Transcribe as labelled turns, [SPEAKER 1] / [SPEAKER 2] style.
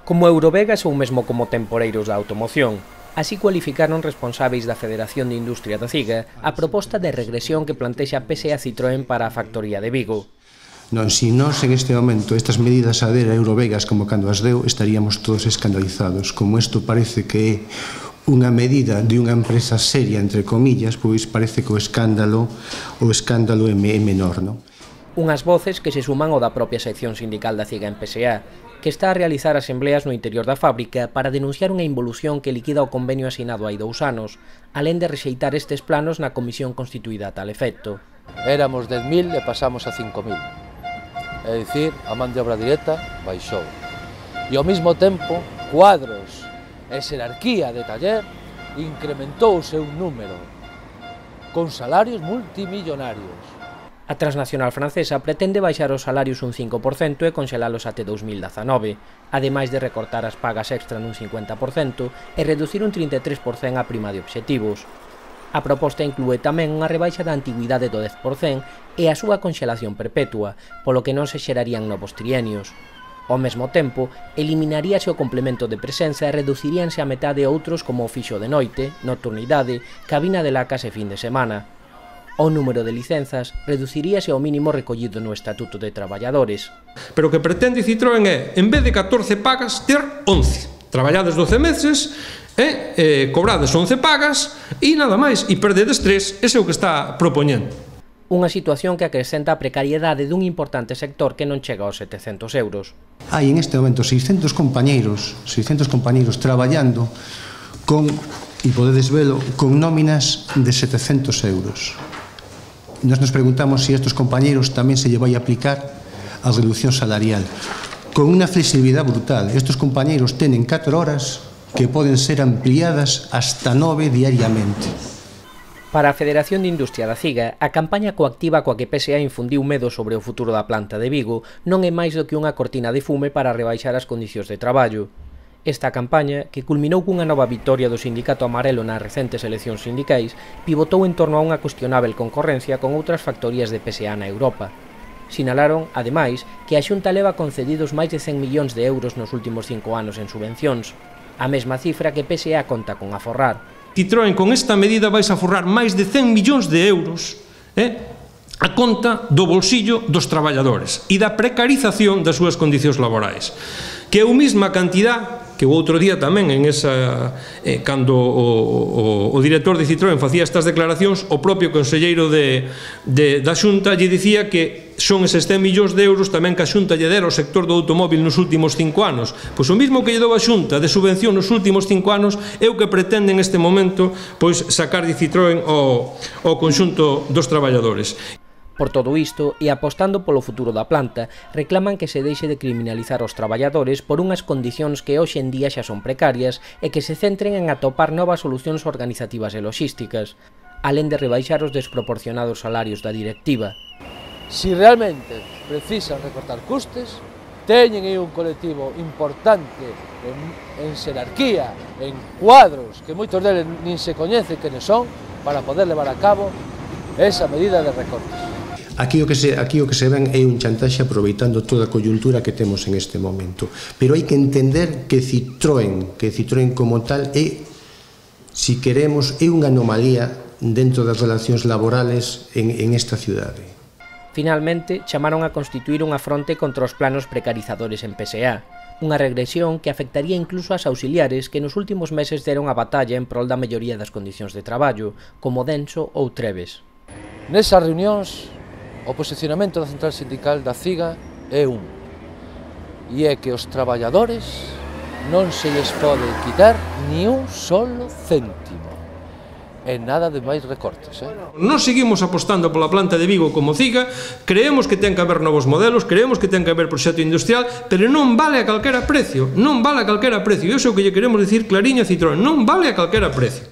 [SPEAKER 1] Como Eurovegas ou mesmo como temporeiros da automoción. Así cualificaron responsáveis da Federación de Industria da CIGA a proposta de regresión que plantexa PSA Citroën para a factoría de Vigo.
[SPEAKER 2] Non, se nós en este momento estas medidas a ver a Eurovegas como cando as deu, estaríamos todos escandalizados. Como isto parece que é unha medida de unha empresa seria, entre comillas, pois parece que o escándalo é menor, non?
[SPEAKER 1] Unhas voces que se suman ao da propia sección sindical da CIGA en PSA, que está a realizar asembleas no interior da fábrica para denunciar unha involución que liquida o convenio asinado hai 2 anos, alén de rexeitar estes planos na comisión constituída a tal efecto.
[SPEAKER 3] Éramos 10.000 e pasamos a 5.000. É dicir, a man de obra directa baixou. E ao mesmo tempo, cuadros e xerarquía de taller incrementouse un número, con salarios multimillonarios.
[SPEAKER 1] A transnacional francesa pretende baixar os salarios un 5% e conxelalos até 2019, ademais de recortar as pagas extra nun 50% e reducir un 33% a prima de obxectivos. A proposta inclúe tamén unha rebaixa da antigüidade do 10% e a súa conxelación perpetua, polo que non se xerarían novos trienios. Ao mesmo tempo, eliminaríase o complemento de presenza e reduciríanse a metade outros como o fixo de noite, nocturnidade, cabina de lacas e fin de semana. O número de licenzas reduciríase ao mínimo recollido no Estatuto de Traballadores.
[SPEAKER 4] Pero o que pretende Citroën é, en vez de 14 pagas, ter 11. Traballades 12 meses, cobrades 11 pagas e nada máis, e perdedes 3, ese é o que está propoñendo.
[SPEAKER 1] Unha situación que acrescenta a precariedade dun importante sector que non chega aos 700 euros.
[SPEAKER 2] Hai en este momento 600 compañeiros traballando con, e podedes velo, con nóminas de 700 euros. Nos preguntamos se estes compañeiros tamén se lle vai aplicar a reducción salarial. Con unha flexibilidade brutal, estes compañeiros tenen 4 horas que poden ser ampliadas hasta 9 diariamente.
[SPEAKER 1] Para a Federación de Industria da CIGA, a campaña coactiva coa que PSA infundiu medo sobre o futuro da planta de Vigo non é máis do que unha cortina de fume para rebaixar as condicións de traballo. Esta campaña, que culminou cunha nova vitoria do Sindicato Amarelo nas recentes eleccións sindicais, pivotou en torno a unha cuestionável concorrencia con outras factorías de PSA na Europa. Sinalaron, ademais, que a Xunta leva concedidos máis de 100 millóns de euros nos últimos 5 anos en subvencións, a mesma cifra que PSA conta con aforrar.
[SPEAKER 4] Citroën con esta medida vais a aforrar máis de 100 millóns de euros a conta do bolsillo dos traballadores e da precarización das súas condicións laborais, que é a mesma cantidad que o outro día tamén en esa cando o director de Citroën facía estas declaracións, o propio conselleiro da Xunta lle dicía que son eses 100 millóns de euros tamén que a Xunta lle dera ao sector do automóbil nos últimos 5 anos. Pois o mesmo que lle dou a Xunta de subvención nos últimos 5 anos é o que pretende en este momento pois sacar de Citroën ao conxunto dos traballadores.
[SPEAKER 1] Por todo isto, e apostando polo futuro da planta, reclaman que se deixe de criminalizar os traballadores por unhas condicións que hoxe en día xa son precarias e que se centren en atopar novas solucións organizativas e logísticas, alén de rebaixar os desproporcionados salarios da directiva.
[SPEAKER 3] Si realmente precisan recortar custes, teñen aí un colectivo importante en xerarquía, en cuadros, que moitos deles nin se coñecen quenes son, para poder levar a cabo esa medida de recortes.
[SPEAKER 2] Aquí o que se ven é un chantaxe aproveitando toda a coyuntura que temos en este momento. Pero hai que entender que Citroën como tal é, si queremos, é unha anomalía dentro das relacións laborales en esta cidade.
[SPEAKER 1] Finalmente, chamaron a constituir unha fronte contra os planos precarizadores en PSA, unha regresión que afectaría incluso ás auxiliares que nos últimos meses deron a batalla en prol da melloría das condicións de traballo, como Denso ou Treves.
[SPEAKER 3] Nesas reunións, o posicionamento da central sindical da CIGA é e é que os traballadores non se lles pode quitar ni un solo céntimo. E nada de máis recortes.
[SPEAKER 4] Nós seguimos apostando pola planta de Vigo como CIGA, creemos que ten que haber novos modelos, creemos que ten que haber proxecto industrial, pero non vale a calquera precio, non vale a calquera precio. E iso é o que lle queremos dicir clariño a Citroën, non vale a calquera precio.